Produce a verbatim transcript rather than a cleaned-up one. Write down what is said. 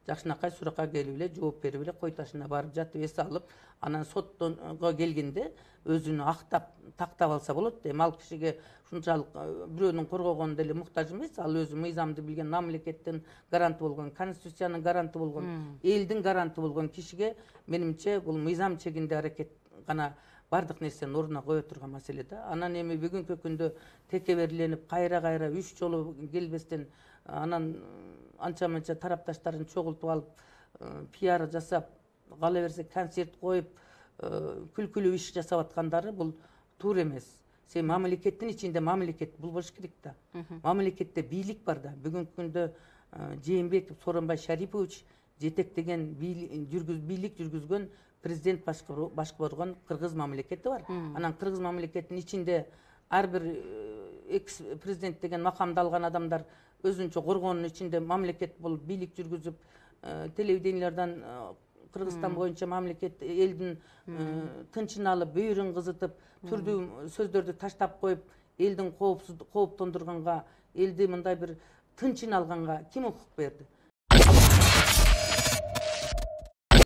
жакшынакай суракка келип эле жооп берип эле кой ташына барып жатып эс алып, анан соттонго келгенде өзүнү актап тактап алса болот. Эми ал кишиге ушунчалык бирөөнүн коргогонуна деле муктаж эмес. Ал өзү мыйзамды билген, мамлекеттин гаранты болгон, конституциянын гаранты болгон, элдин гаранты болгон кишиге менимче бул мыйзам чегинде аракет гана бардык нерсени ордуна кое турган маселе да. Анан эми бүгүнкү күндө текеберленип кайра кайра үч жолу келбестен анан анча мынча тарапташтарын чогултуп алып, пиар жасап, кала берсе концерт коюп, күлкүлүү иш жасап аткандары бул туура эмес. Сен мамлекеттин ичинде мамлекет бул болуш керек да. Мамлекетте бийлик бар да. Бүгүнкү күндө Жээнбеков Сооронбай Шарипович жетектеген бийлик жүргүзгөн президент башкарган кыргыз мамлекети бар. Анан кыргыз мамлекетинин ичинде ар бир экс президент деген макамды алган адамдар өзүнчө коргоонун ичинде мамлекет болуп бийлик жүргүзүп, телевидениялардан Кыргызстан боюнча мамлекет элдин тынчын алып, бөйрөн кызытып, түрдүү сөздөрдү таштап коюп, элдин кооптондурганга, элди мындай бир тынчын алганга ким укук берди?